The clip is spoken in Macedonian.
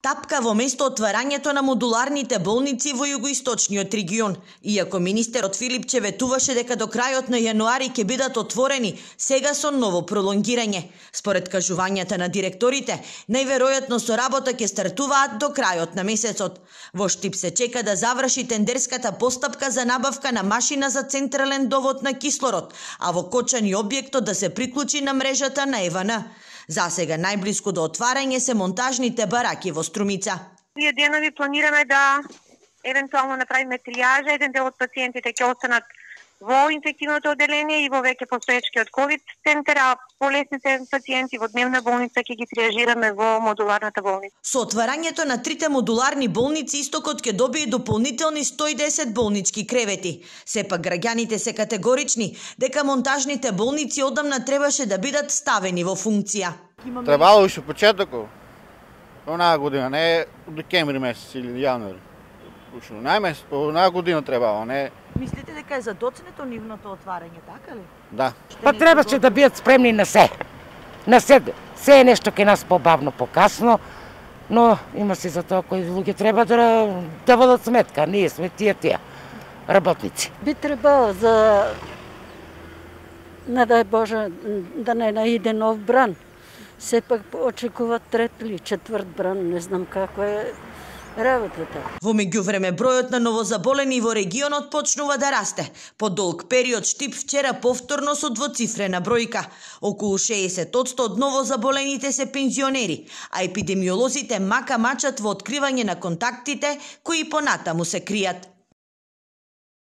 Тапка во место отварањето на модуларните болници во југоисточниот регион. Иако министерот Филипче ветуваше дека до крајот на јануари ќе бидат отворени, сега со ново пролонгирање. Според кажувањата на директорите, најверојатно со работа ќе стартуваат до крајот на месецот. Во Штип се чека да заврши тендерската постапка за набавка на машина за централен довод на кислород, а во Кочани објектот да се приклучи на мрежата на ЕВН. Засега најблиску до отварање се монтажните бараки во Струмица. Ние денови планираме да евентуално направиме тријажа, еден дел од пациентите ќе останат во инфективното одделение и во веќе постоечкиот ковид центар, а полесните пациенти во дневна болница ќе ги триажираме во модуларната болница. Со отварањето на трите модуларни болници Истокот ќе добие дополнителни 110 болнички кревети. Сепак граѓаните се категорични дека монтажните болници одамна требаше да бидат ставени во функција. Требало уште почетокот. Онаа година, не декември месец или јануари. Уште онаа година требало, не. Мислите дека е задоцнето нивното отварање, така ли? Да. Па требаше да бидат спремни на се. На се е нешто ке нас побавно, покасно, но има се за тоа кои луѓе треба да водат сметка. Ние сме тие работници. Би требало за, не дај Боже, да не наиде нов бран. Сепак очекуваат трет или четврт бран, не знам како е работата. Во меѓувреме бројот на новозаболени во регионот почнува да расте. По долг период Штип вчера повторно со двоцифрена бројка. Околу 60% од новозаболените се пензионери, а епидемиолозите мака мачат во откривање на контактите кои понатаму се кријат.